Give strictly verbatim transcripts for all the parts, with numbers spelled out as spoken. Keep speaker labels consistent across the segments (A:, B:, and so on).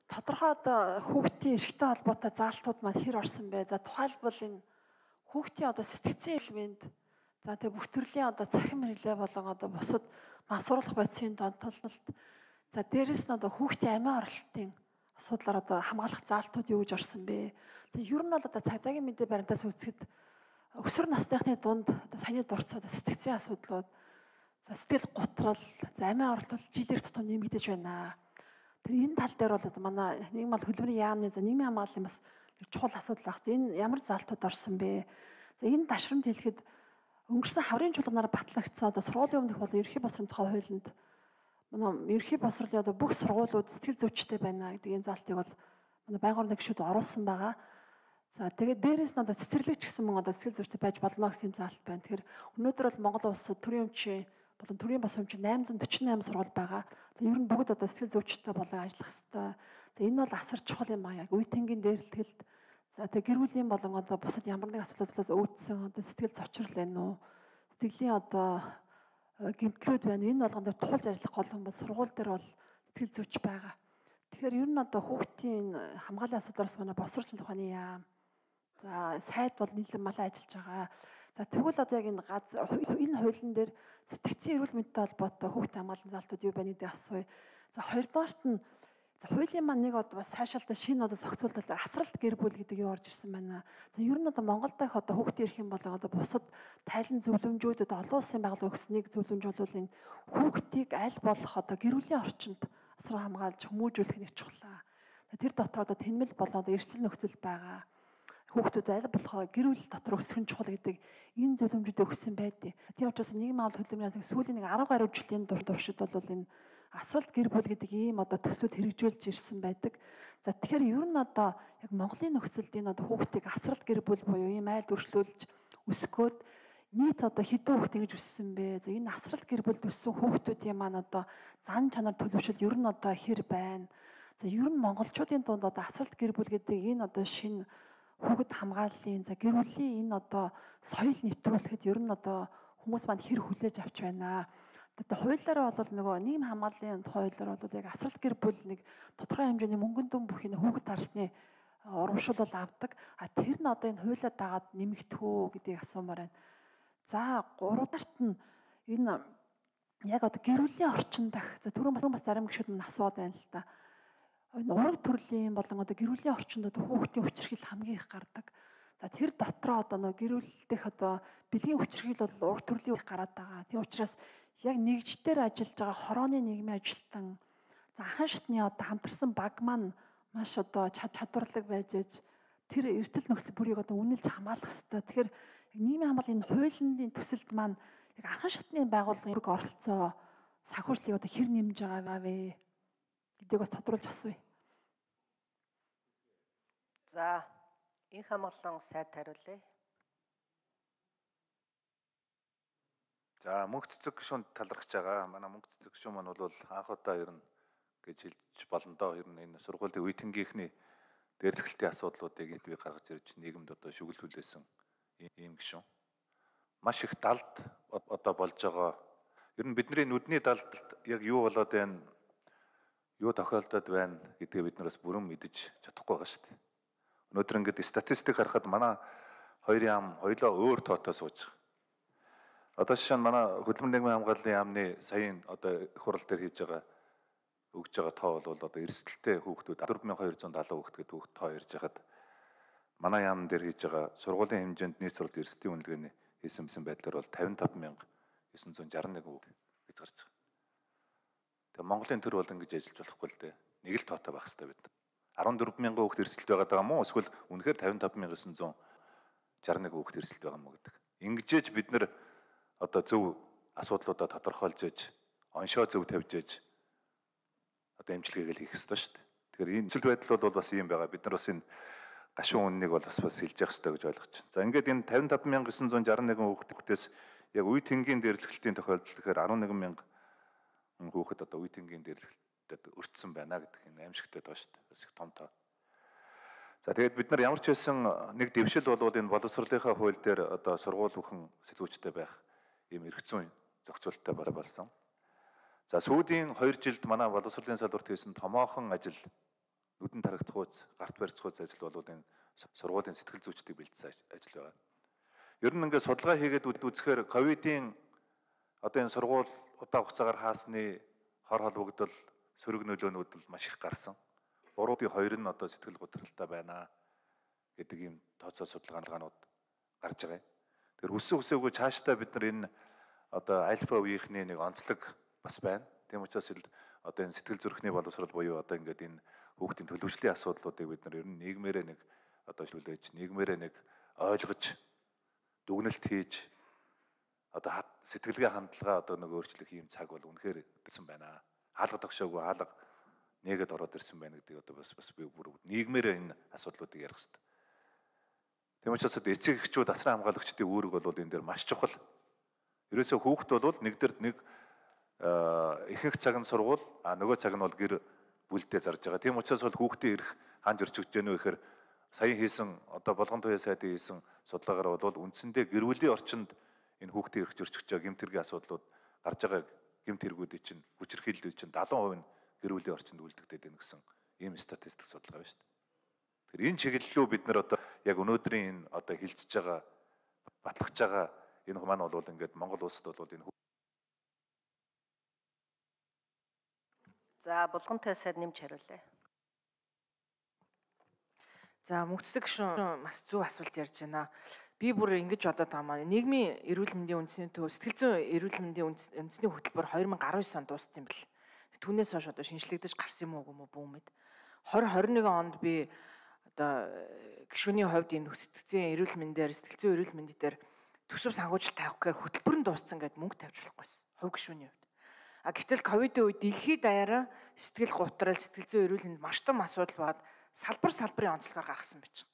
A: Тодорхой одоо хүүхдийн эрхтэй холбоотой заалтууд маань хэр орсон бэ? За тухайлбал энэ хүүхдийн одоо сэтгцийн элемент, за тэгээ бүх төрлийн одоо цахим хэрэглээ болон одоо бусад мансууруулах бодисын донтолт, за дээрэс нь одоо хүүхдийн амиа оролтын асуудлаар одоо хамгаалах заалтууд юу гэж орсон бэ? За ер нь бол одоо цагдаагийн мэдээ баримтаас үзэхэд өсвөр насныхны дунд одоо саяны дурц одоо сэтгцийн асуудлууд, за сэтгэл готрол, за амиа оролт жилээр тутам нэмэгдэж байна. Тэр энэ тал дээр бол одоо манай нийгэм бол хөдөлмөрийн яамны за нийгмийн хамгааллын бас чухал асуудал багт. Энэ ямар залтууд орсон бэ? За энэ ташрамд хэлэхэд өнгөрсөн хаврын чуулганаар батлагдсан одоо сургуулийн өмнөх болон ерөнхий боловсролын тухай хуулинд манай ерөнхий боловсролын одоо бүх сургуулиуд сэтгэл зүйчтэй байна гэдэг энэ залтыг бол манай байгууллагын гишүүд оруулсан байгаа. За тэгээд дээрээс нь одоо цэцэрлэгч гэсэн мөн одоо сэтгэл зүйчтэй байж болно гэсэн заалт байна. Тэгэхээр өнөөдөр бол Монгол улсад төрийн өмчийн болон төрийн бос өмчийн найман дөрвөн восемь сургууль байгаа. За ер нь бүгд одоо сэтгэл зүйчтэй болон ажиллах хэрэгтэй. За энэ бол асар чухал юм аа. Яг үе тэнгийн дээрлэлт. За тэгээ гэр бүлийн болон одоо бусад ямар нэг асуудлаас үүдсэн одоо сэтгэл зочрол байна уу? Сэтгэлийн одоо гэмтлүүд байна. Энэ болгонд тулж ажиллах гол юм бол сургууль дээр бол сэтгэл зүйч байгаа. Тэгэхээр ер нь одоо хүүхдийн хамгааллын асуудлаас манай босролчин ухааны яам. За сайд бол нийлэн малаа ажиллаж байгаа. За тэгвэл одоо яг энэ газар энэ хуулийн дээр сэтгцийн эрүүл мэндтэй холбоотой хүүхдийн хамгааллын залтууд юу байна гэдгийг асууя. За хоёрдугаарт нь за хуулийн маань нэг одоо бас сайшаалтай шинэ одоо зохицуулалт асралт гэр бүл гэдэг юу орж ирсэн байна. За ер нь одоо Монгол дахь одоо хүүхдийн эрх юм болон одоо бусад тайлан зөвлөмжүүдэд олон улсын байгууллага өгснэг зөвлөмж бол энэ хүүхдийг аль болох одоо гэр бүлийн орчинд асран хамгаалж хүмүүжүүлэх нэг чухал. Тэр дотор одоо тэнмэл болон одоо эрсдэл нөхцөл байгаа. Хүүхдүүд аль болох гэр бүл дотор өсөх нь чухал гэдэг энэ зөвлөмжүүд өгсөн байдیں۔ Тийм учраас нийгмийн хамгаалалт хөдөлмөрийн сүүлийн нэг арав гаруй жилийн туршид бол энэ асралт гэр бүл гэдэг ийм одоо төсвөд хэрэгжүүлж ирсэн байдаг. За тэгэхээр ер нь одоо яг Монголын нөхцөлд энэ одоо хүүхдийг асралт гэр бүл буюу ийм айл өршлүүлж өсгөөд нийт одоо хэдэн хүүхд ингэж өссөн бэ? За энэ асралт гэр бүлд өссөн хүүхдүүдийн маань одоо зан чанар төлөвшөл ер нь одоо хэр байна? За ер нь монголчуудын дунд одоо асралт гэр бүл гэдэг энэ одоо шинэ хүүхэд хамгааллын за гэр бүлийн энэ одоо соёл нэвтрүүлэхэд ер нь одоо хүмүүс маань хэр хүлээж авч байна. Одоо хуулиараа бол нөгөө нийгэм хамгааллын хуулиар бол яг асралт гэр бүл нэг тодорхой хэмжээний мөнгөн дүн бүхий хүүхэд харсны урамшуул бол авдаг. А тэр нь одоо энэ хуулиар дагаад нэмэгдэх үү гэдгийг асуумаар байна. За гуравдаарт нь энэ яг одоо гэр бүлийн орчин дах за түрүүн бас зарим гишүүд минь асууад байна л та. Энэ ураг төрлийн болон одоо гэр бүлийн орчинд одоо хүүхдийн хүчирхийл хамгийн их гардаг. За тэр дотроо одоо нөгөө гэр бүл дэх одоо бэлгийн хүчирхийл бол ураг төрлийн их гараад байгаа. Тийм учраас яг нэгжтэр ажиллаж байгаа хорооны нийгмийн ажилтан за анхан шатны одоо хамтарсан баг маань маш одоо чадварлаг байж аж тэр эрсдэл нөхцөл бүрийг одоо үнэлж хамгаалах хэрэгтэй. Тэгэхээр нийгмийн хамгааллын энэ хуулийн төсөлд маань яг анхан шатны байгууллагын оролцоо санхүүжилтийг одоо хэр нэмж байгаа вэ гэдгийг бас тодруулж асууя.
B: За инх хамгааллын сайд хариулъя.
C: За мөнх цэцэг гишүүнд талархаж байгаа. Манай мөнх цэцэг гишүүн маань бол анх удаа ер нь гэж хэлж болно доо. Ер нь энэ сургуулийн үе тэнгийнхний дээрлэхэлтийн асуудлуудыг энд би гаргаж ирж нийгэмд одоо шүглүүлсэн ийм гишүүн. Маш их далд одоо болж байгаа. Ер нь бидний нүдний далд яг юу болоод байна, юу тохиолдоод байна гэдгийг бид нараас бүрэн мэдэж чадахгүй байгаа шүү дээ. Өнөөдөр ингээд статистик харахад манай хоёр яам хоёлоо өөр тоотой сууж байгаа. Одоо жишээ нь манай хөдөлмөр нийгмийн хамгааллын яамны саяын одоо их хурал дээр хийж байгаа өгж байгаа тоо бол одоо эрсдэлтэй хүүхдүүд дөрвөн мянган хоёр жүз залуу хүүхд гэдэг хүүхд тоо ярьж хахад манай яам дээр хийж байгаа сургуулийн хэмжээнд нийт суралт эрсдлийн үнэлгээний хийсэн байдлаар бол тавин таван мянга девять жүз шестьдесят один хүүхд гэж гарч байгаа. Тэгээ Монголын төр бол ингэж ажиллаж болохгүй л дээ. Нэг л тоотой байх хэрэгтэй бид. арван дөрвөн мянган хүүхд эрсдэлт байгаа юм уу? Эсвэл үнэхээр тавин таван мянган девять жүз шестьдесят один хүүхд эрсдэлт байгаа юм уу гэдэг. Ингэжээж бид нэр одоо зөв асуудлуудаа тодорхойлж ээж, оншоо зөв тавьж ээж одоо эмчилгээгээ л хийх ёстой шүү дээ. Тэгэхээр энэ нөхцөл байдал бол бас ийм байгаа. Бид нар бас энэ гашуун үннийг бол бас бас хэлж явах ёстой гэж ойлгож байна. За ингээд энэ тавин таван мянган девять жүз шестьдесят один хүүхдээс яг үе тэнгийн дээрлэхтийн тохиолдолд тэгэхээр арван нэгэн мянга хүүхэд одоо үе тэнгийн дээрлэлтэд өртсөн байна гэдэг энэ аимшигтай байгаа шүү дээ. Бас их том тоо. За тэгээд бид нар ямар ч байсан нэг дэвшил болвол энэ боловсролынхаа хууль дээр одоо сургууль бүхэн сэтгүүчтэй байх ийм эрх зүйн зохицуулттай болсон. За сүүлийн хоёр жилд манай боловсролын салбарт хийсэн томоохон ажил, нүдэн тарагдах үз, гарт барьцах үз ажил бол энэ сургуулийн сэтгэл зүйчдийг бэлдсэн ажил байна. Ер нь ингээд судалгаа хийгээд үзэхээр ковидын одоо энэ сургууль удаан хугацаагаар хаасны хор холбогдол, сөрөг нөлөөнүүд л маш их гарсан. Гурвын хоёр нь одоо сэтгэл готролтой байна гэдэг ийм тооцоо судалгаанууд гарч байгаа юм. Тэгэхээр хүссэн хүсээгүй цаашдаа бид нар энэ одоо альфа үеийнхний нэг онцлог бас байна. Тийм учраас л одоо энэ сэтгэл зүрхний боловсрол буюу одоо ингээд энэ хүүхдийн төлөвшлийн асуудлуудыг бид нар ер нь нийгмээрээ нэг одоо шүлээж, нийгмээрээ нэг ойлгож, дүгнэлт хийж одоо сэтгэлгээ хандлага одоо нэг өөрчлөх ийм цаг бол үнэхээр ирсэн байна. Хаалга тогшоогүй хаалга нэгэд ороод ирсэн байна гэдэг одоо бас бас би бүр нийгмээрээ энэ асуудлуудыг ярих хэрэгтэй. Тийм учраас эцэг эхчүүд, асран хамгаалагчдын үүрэг бол энэ дээр маш чухал. Ерөөсөө хүүхэд бол нэг дээр нэг ихэнх цаг нь сургууль, а нөгөө цаг нь бол гэр бүлдээ зарж байгаа. Тийм учраас бол хүүхдийн эрх ханд ирж өгч гэнэ вэ гэхээр сая хийсэн одоо болгон туяа сайдын хийсэн судалгаагаар бол үндсэндээ гэр бүлийн орчинд энэ хүүхдийн эрх зөрчиж байгаа гэмт хэргийн асуудлууд гарч байгаа гэмт хэрэгүүдийн чинь хүчирхийллүүд чинь даатан хувь нь гэр бүлийн орчинд үлдэгдээд байна гэсэн ийм статистик судалгаа байна шүү дээ. Тэгэхээр энэ чиглэлөө бид нар одоо яг өнөөдрийн энэ одоо хилцэж байгаа батлахж байгаа энэ маань бол ингээд Монгол улсад бол энэ
B: За болгон туяа сайд нэмж хариулъя.
D: За мөнхцөг гишүүн маш зөв асуулт ярьж байна. Би бүр ингэж бодоод байгаа маань нийгмийн эрүүл мэндийн үндэсний төв сэтгэл зүйн эрүүл мэндийн үндэсний хөтөлбөр two thousand nineteen онд дууссан юм бэл. Түүнээс хойш одоо шинжлэгдэж гарсан юм уу гэмүү бүүмэд. twenty twenty-one онд би одоо гишүүний хувьд энэ сэтгэл зүйн эрүүл мэндээр сэтгэл зүйн эрүүл мэнд дээр төсөв санхүүжилт тавих гэхээр хөтөлбөр нь дууссан гэдээ мөнгө тавьж болохгүйсэн. Хувь гишүүний хувьд. А гэтэл ковидын үед дэлхийд даяараа сэтгэл гутрал, сэтгэл зүйн эрүүл мэнд маш том асуудал бод салбар салбарын онцлогоор гаргасан байж.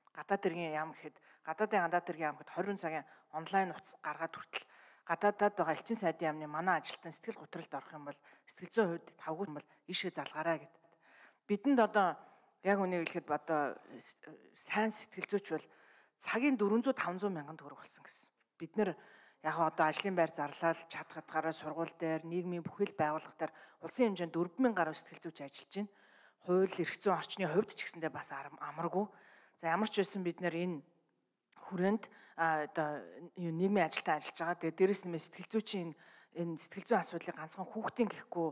D: Гадаад иргэн яам гэхэд гадаадын гадаад иргэн яам гэхэд twenty цагийн онлайн утас гаргаад хүртэл гадаадад байгаа элчин сайдын яамны манай ажилтан сэтгэл гутралд орох юм бол сэтгэл зүйн хувьд тавгүй бол ишээ залгаарай гэдэг. Бидэнд одоо яг үнийг хэлэхэд одоо сайн сэтгэл зүйч бол цагийн four hundred five hundred мянган төгрөг болсон гэсэн. Бид нэр яг одоо ажлын байр зарлал чадхатгаараа сургууль дээр нийгмийн бүхэл байгууллага дээр улсын хэмжээнд four thousand гаруй сэтгэл зүйч ажиллаж байна. Хууль эрх зүйн орчны хувьд ч гэсэндээ бас амаргүй. За ямар ч байсан бид нэр энэ хүрээнд одоо нийгмийн ажилтан ажиллаж байгаа. Тэгээ дээрэс нь сэтгэл зүйчийн энэ сэтгэл зүйн асуудлыг ганцхан хүүхдийн гэхгүй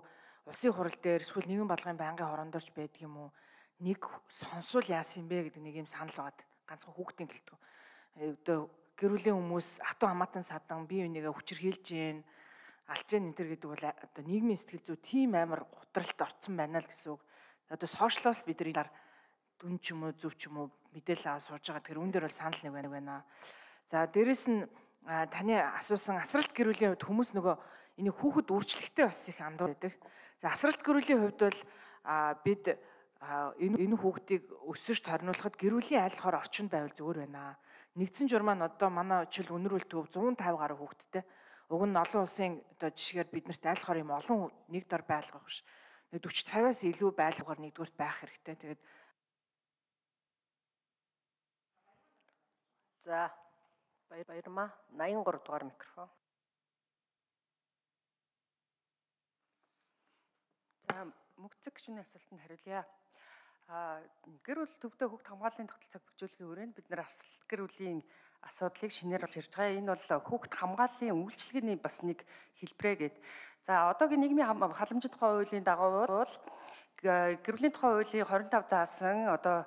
D: улсын хурал дээр эсвэл нийгэм бодлогын байнгын хорондорч байдаг юм уу? Нэг сонсвол яасан юм бэ гэдэг нэг юм санал байгаад ганцхан хүүхдийн гэлтгүй. Одоо гэр бүлийн хүмүүс хатуу хамаатан садан бие бинийгээ хүчирхийлж гин алж гин энэ төр гэдэг бол одоо нийгмийн сэтгэл зүй тийм амар гутралд орцсон байна л гэсэн үг. Одоо сошиалоос бид нар дүн ч юм уу зөв ч юм уу мэдээлэл аваад сууж байгаа. Тэр үн дээр бол санал нэг байна. За дээрэс нь таны асуусан асралт гэр бүлийн хувьд хүмүүс нөгөө энийг хүүхэд үржлэхтэй бас их андуур байдаг. За асралт гэр бүлийн хувьд бол бид энэ энэ хүүхдийг өсөж торниулахад гэр бүлийн айл хор орчинд байвал зүгээр байна. Нэгдсэн жур маань одоо манай жишээл өнөрүүл төв one fifty гаруй хүүхэдтэй. Уг нь олон улсын одоо жишгээр биднэрт айл хор юм олон нэг дор байлгах биш. forty fifty-аас илүү байлгаар нэгдүгürt байх хэрэгтэй. Тэгээд
B: За баяр баярмаа eighty-three дугаар микрофон. За мөнхцөг гишүүний асуултанд хариулъя. А гэр бүл төвдөө хүүхд хамгааллын тогтолцоог бүжүүлэхийн хүрээнд бид нэр асралт гэр бүлийн асуудлыг шинээр олж ирж байгаа. Энэ бол хүүхд хамгааллын үйлчилгээний бас нэг хэлбэрээ гээд. За одоогийн нийгмийн халамжийн тухай хуулийн дагуу бол гэр бүлийн тухай хуулийн twenty-five заасан одоо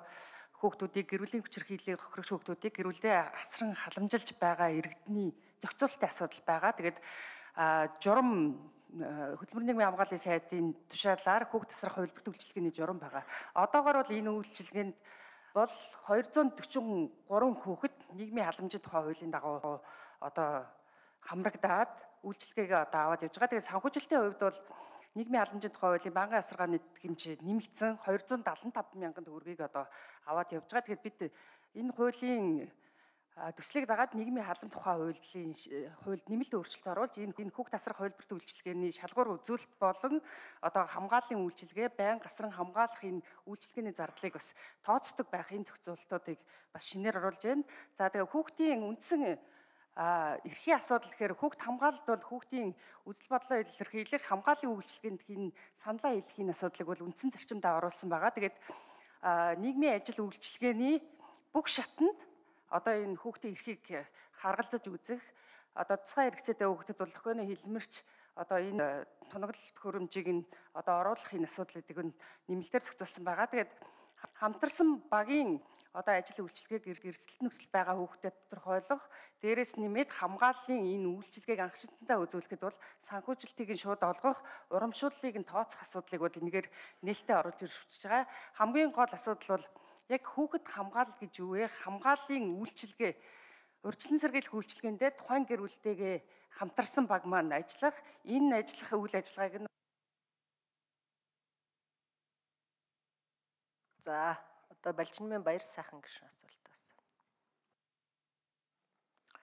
B: хүүхдүүдийг гэр бүлийн хүчирхийллийг хохирогч хүүхдүүдийг гэр бүлдээ асран халамжилж байгаа иргэдний зохицуулалтын асуудал байгаа. Тэгээд журам хөтөлбөрийн нийгмийн хамгааллын сайдын тушаалаар хүүхд тасрах хувилбарт үйлчилгээний журам байгаа. Одоогоор бол энэ үйлчилгээнд бол two hundred forty-three хүүхэд нийгмийн халамжийн тухай хуулийн дагуу одоо хамрагдаад үйлчилгээгээ одоо аваад явж байгаа. Тэгээд санхүүжилтийн хувьд бол нийгмийн халамжийн тухай хуулийн банкны асаргааны хэмжээ нэмэгдсэн two hundred seventy-five мянган төгрөгийг одоо аваад явж байгаа. Тэгэхээр бид энэ хуулийн төслийг дагаад нийгмийн халам тухай хуулийн хуульд нэмэлт өөрчлөлт оруулж энэ энэ хүүхд тасрах хувилбарт үйлчилгээний шалгуур үзүүлэлт болон одоо хамгааллын үйлчилгээ, байнга асран хамгаалах энэ үйлчилгээний зардлыг бас тооцдог байх энэ зохицуултуудыг бас шинээр оруулж байна. За тэгээ хүүхдийн үндсэн А эрхийн асуудал гэхээр хүүхд хамгаалалт бол хүүхдийн үзэл бодлоо илэрхийлэх хамгааллын үйлчилгээнд хийн саналаа хэлхийн асуудлыг бол үндсэн зарчимд оруулсан байгаа. Тэгээд нийгмийн ажил үйлчилгээний бүх шатанд одоо энэ хүүхдийн эрхийг харгалзаж үзэх, одоо тусгай хэрэгцээтэй хүүхдэд бол охины хэлмэрч одоо энэ тоноглолт хөрөмжийг нь одоо оруулах энэ асуудлуудыг нь нэмэлтээр зохицуулсан байгаа. Тэгээд хамтарсан багийн одоо ажил үйлчилгээг эрсдэлт нөхцөл байгаа хүүхдэд тодорхойлох, дээрээс нэмээд хамгааллын энэ үйлчилгээг анхшилтандаа үзүүлэхэд бол санхүүжилтийг нь шууд олгох, урамшууллыг нь тооцох асуудлыг бол энэгээр нээлттэй оруулж ирж байгаа. Хамгийн гол асуудал бол яг хүүхэд хамгаалал гэж юу вэ? Хамгааллын үйлчилгээ, урьдчилан сэргийлэх үйлчилгээндээ тухайн гэр бүлтэйгээ хамтарсан баг маань ажиллах, энэ ажиллах үйл ажиллагааг нь
E: За, одоо Балжинмын баяр сайхан гишүүн асуулт.